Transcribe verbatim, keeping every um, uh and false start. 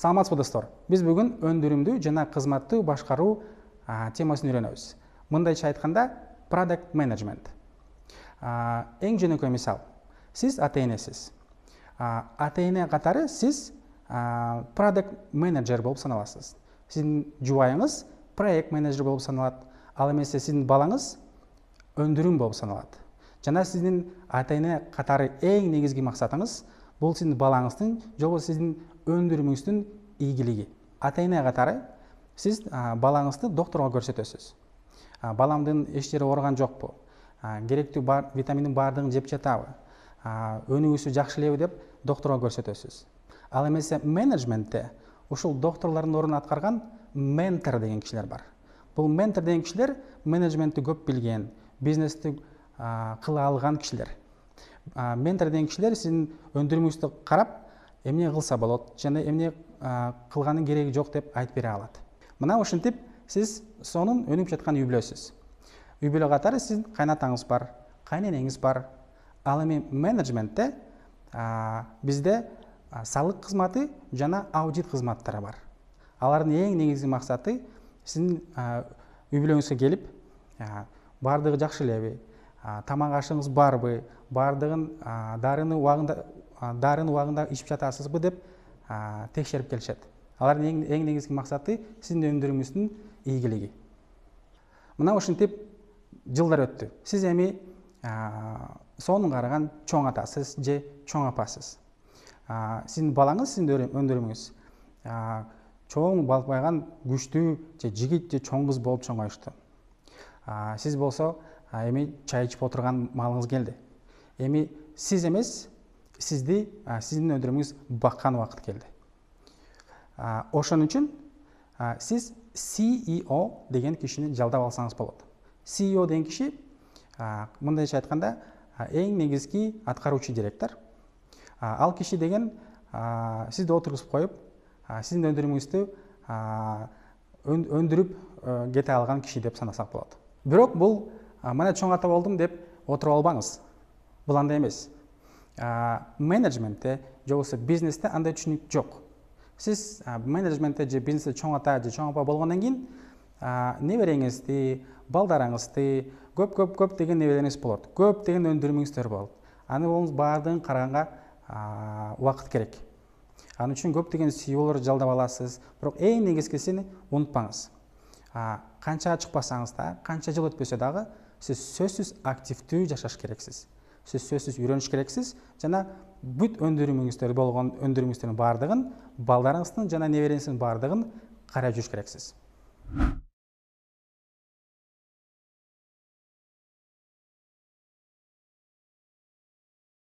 Саламатсызбы достор. Биз бүгүн өндүрүмдүү жана кызматты башкаруу темасын үйрөнөбүз. Мындайча айтканда, product management. Эң жөнөкөй мисал. Сиз ата-энесиз. Ата-эне катары сиз product manager болуп саналасыз. Сиздин жубайыңыз проект менеджер болуп саналат. Ал эмесе сиздин балаңыз өндүрүм болуп саналат. Жана сиздин ата-эне катары эң негизги максатыңыз бул сиздин балаңыздын же болбосо сиздин өндүрүмүңүздүн ийгилиги. Ата-эне катары сиз балаңызды доктурга көрсөтөсүз. Баламдын эч жери ооруган жокпу? Керектүү бар витаминдин баардыгын жеп жатабы? Өнүгүүсү жакшы элеби деп доктурга көрсөтөсүз. Ал эмесе менеджментте ушул доктурлардын ордун аткарган ментор деген кишилер бар. Бул ментор деген кишилер менеджментти көп билген, бизнести кыла алган кишилер. Ментор деген кишилер сиздин өндүрүмүңүздү карап, эмне кылса болот жана эмне кылганын кереги жок деп айтып бере алат. Мына ушинтип сиз сонун өнүгүп жаткан үй бүлөсүз. Үй бүлө катары сиздин кайнатаңыз бар, кайненеңиз бар. Ал эми менеджментте бизде салык кызматы жана аудит кызматтары бар. Алардын эң негизги максаты сиздин үй бүлөңүзгө келип, баардыгы жакшы элеби, тамак ашыгыңыз барбы, баардыгын дарыны убагында дарыны убагында ичип жатасызбы деп текшерип келишет. Алардын эң негизги максаты сиздин өндүрүмүңүздүн ийгилиги. Мына ушинтип жылдар өттү. Сиз эми сонун караган чоң атасыз же чоң апасыз. Сиздин балаңыз сиздин өндүрүмүңүз чоң балпайган күчтүү же жигит же чоң кыз болуп чоңоюшту. Сиз болсо эми чай ичип отурган маалыңыз келди. Эми сиз эмес, сизди сиздин өндүрүмүңүз баккан убакыт келди. Ошон үчүн сиз си и о деген кишини жалдап алсаңыз болот. си и о деген киши мындайча айтканда эң негизги аткаруучу директор. Ал киши деген сизди отургузуп коюп, сиздин өндүрүмүңүздү өндүрүп кете алган киши деп санасак болот. Бирок бул мына чоң ата болдум деп отуруп албаңыз. Бул андай эмес. Менеджментте же болбосо бизнесте андай түшүнүк жок. Сиз менеджментте же бизнесте чоң ата же чоң апа болгондон кийин небереңизди, балдарыңызды, көп көп көп деген небереңиз болот. Көп деген өндүрүмүңүздөр болот. Аны болуңуз баардыгын караганга убакыт керек. Анын үчүн көп деген си и олорду жалдап аласыз. Бирок эң негизгисин унутпаңыз. Канча чыкпасаңыз да, канча жыл өтпөсө дагы сиз сөзсүз активдүү жашаш керексиз. Сиз сөзсүз үйрөнүш керексиз жана бүт өндүрүмүңүздөр болгон өндүрүмүңүздөрдүн баардыгын, балдарыңыздын жана небереңиздин баардыгын карап жүрүш керексиз.